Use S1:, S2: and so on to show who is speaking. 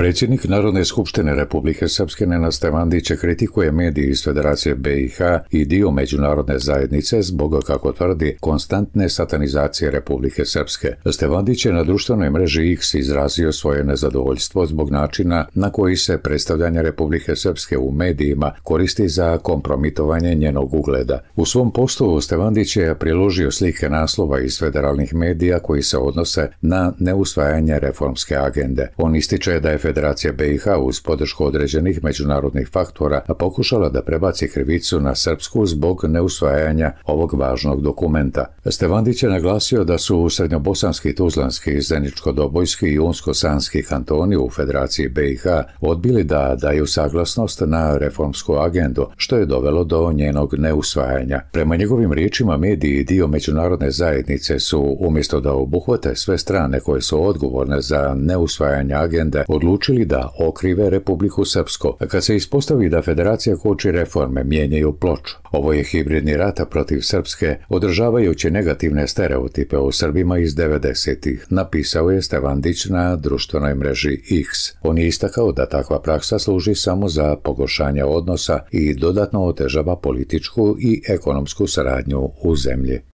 S1: Predsjednik Narodne skupštine Republike Srpske Nenad Stevandić kritikuje medije iz Federacije BiH i dio međunarodne zajednice zbog, kako tvrdi, konstantne satanizacije Republike Srpske. Stevandić je na društvenoj mreži X izrazio svoje nezadovoljstvo zbog načina na koji se predstavljanje Republike Srpske u medijima koristi za kompromitovanje njenog ugleda. U svom postu Stevandić je priložio slike naslova iz federalnih medija koji se odnose na neusvajanje reformske agende. On ističe da je Federacija BiH uz podršku određenih međunarodnih faktora pokušala da prebaci krivicu na Srpsku zbog neusvajanja ovog važnog dokumenta. Stevandić je naglasio da su srednjobosanski, tuzlanski, zeničko-dobojski i unsko-sanski kantoni u Federaciji BiH odbili da daju saglasnost na reformsku agendu, što je dovelo do njenog neusvajanja. Prema njegovim riječima, mediji i dio međunarodne zajednice su, umjesto da obuhvate sve strane koje su odgovorne za neusvajanje agende, odlučili da okrive Republiku Srpsku. Kad se ispostavi da Federacija koči reforme, mijenjaju ploču. Ovo je hibridni rat protiv Srpske, održavajući negativne stereotipe o Srbima iz 90-ih, napisao je Stevandić na društvenoj mreži X. On je istakao da takva praksa služi samo za pogoršanje odnosa i dodatno otežava političku i ekonomsku saradnju u zemlji.